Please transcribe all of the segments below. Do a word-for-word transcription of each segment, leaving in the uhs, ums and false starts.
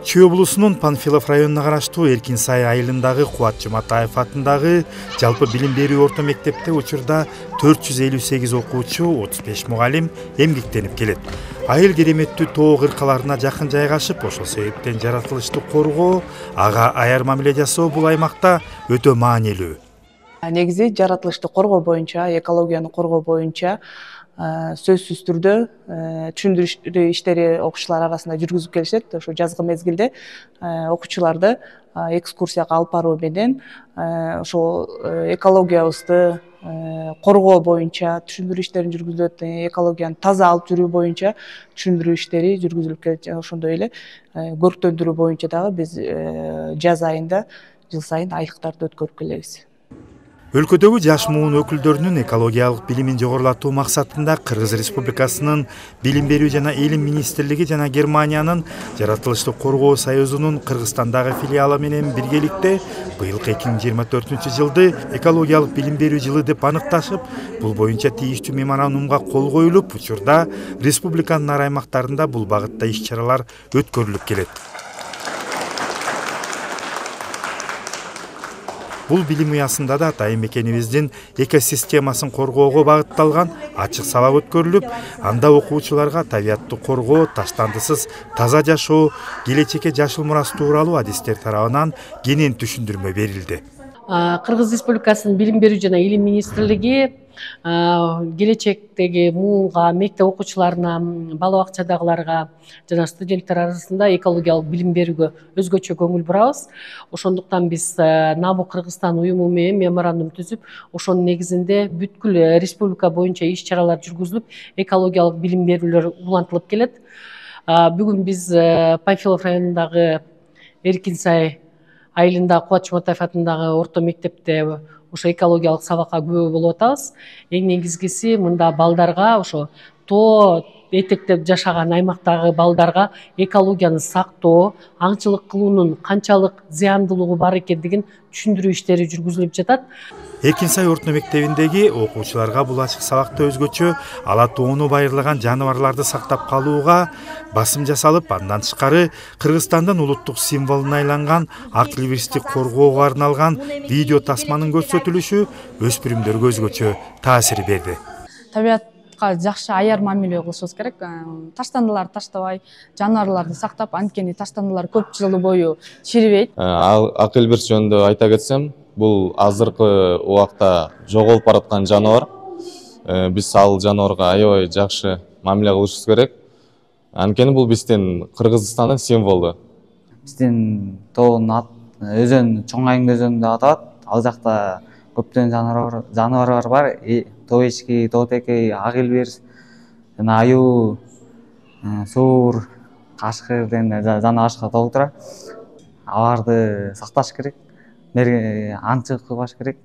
Чүй облусунун Панфилов районуна караштуу Эркинсай айылындагы Кубат Жуматаев атындагы жалпы билим берүү орто мектепте учурда төрт жүз элүү сегиз окуучу, отуз беш мугалим эмгектенип келет. Айыл кереметтүү тоо кыркаларына жакын жайгашып, ошол себептен жаратылышты коргоо, ага аяр мамиле жасоо бул аймакта өтө маанилүү. Негизи жаратылышты коргоо боюнча, экологияны коргоо боюнча сөзсүз түрдө түшүндүрүү иштери окуучулар арасында жүргүзүп келишет. Ошо жазгы мезгилде окуучуларды экскурсияга алып баруу менен ошол экологиябызды коргоо боюнча түшүндүрүү иштерин жүргүзүлөт. Экологияны таза алып жүрүү боюнча түшүндүрүү иштери жүргүзүлүп келет. Ошондой эле көрктөндүрүү боюнча дагы биз жаз айында жыл сайын айыктарды өткөрүп келебиз. Өлкөдөгү жаш муун өкүлдөрүнүн экологиялык билимин жогорулатуу максатында Кыргыз Республикасынын Билим берүү жана Илим министрлиги жана Германиянын Жаратылышты коргоо союзунун Кыргызстандагы филиалы менен биргеликте быйылкы эки миң жыйырма төртүнчү жылды экологиялык билим берүү жылы деп аныкташып, бул боюнча тийиштүү меморандумга кол коюлуп, учурда республиканын ар аймактарында бул багытта иш-чаралар өткөрүлүп келет. Бул билим уясында да атайын мекенибиздин экосистемасын коргоого багытталган ачык сабак өткөрүлүп, анда окуучуларга табиятты коргоо, таштандысыз таза жашоо, келечекке жашыл мурас тууралуу адистер тарабынан кенен түшүндүрмө берилди. Кыргыз Республикасынын Билим берүү жана Илим министрлиги келечектеги муунга, мектеп окуучуларына, бала бакчадагыларга жана студенттер арасында экологиялык билим берүүгө өзгөчө көңүл бурабыз. Ошондуктан биз Набу Кыргызстан уюму менен меморандум түзүп, ошонун негизинде бүткүл республика боюнча иш-чаралар жүргүзүлүп, экологиялык билим берүүлөр улантылып келет. Бүгүн биз Панфилов районундагы Эркинсай айылында Кубат Жуматаев атындагы орто мектепте ошо экологиялык сабакка күбө болуп атабыз. Эң негизгиси мында балдарга, ошо тоо этектеп жашаган аймактагы балдарга экологияны сактоо, аңчылык кылуунун канчалык зыяндуулугу бар экендигин түшүндүрүү иштери жүргүзүлүп жатат. Эркинсай орто мектебиндеги окуучуларга бул ачык сабакта өзгөчө ала тоону байырлаган жаныбарларды сактап калууга басым жасалып, андан тышкары Кыргызстандын улуттук символуна айланган ак либристи коргоого арналган видео тасманын көрсөтүлүшү өспүрүмдөргө өзгөчө таасир берди. Табиятка жакшы аяр мамиле кылышыбыз керек. Таштандыларды таштабай, жаныбарларды сактап, анткени таштандылар көп жыл бою чирибейт. Ак либрист жөнүндө айта кетсем, бул азыркы убакта жоголуп бараткан жаныбар. Биз ал жаныбарга аябай жакшы мамиле кылышыбыз керек. Анткени бул биздин Кыргызстандын символу. Биздин тоонун өзөн Чоң Айың өзөнү деп аталат. Ал жакта көптөгөн жаныбарлар бар. Тоо эчки, тоо текей, ак илбирс, жана аюу, суур, кашкыр деген жана башка толтура. Аларды сакташ керек, аңчылык кылбаш керек.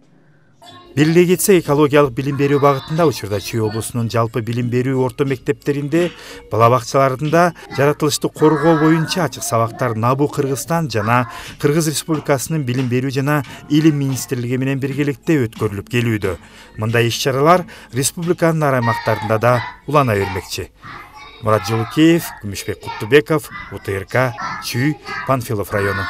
Белгилей кетсек, экологиялык билим берүү багытында учурда Чүй облусунун жалпы билим берүү орто мектептеринде, бала бакчаларында жаратылышты коргоо боюнча ачык сабактар Набу Кыргызстан жана Кыргыз Республикасынын Билим берүү жана Илим министрлиги менен биргеликте өткөрүлүп келүүдө. Мындай иш-чаралар республиканын ар аймактарында да улана бермекчи. Мурат Жолукеев, Күмүшбек Куттубеков, УТРК, Чүй, Панфилов району.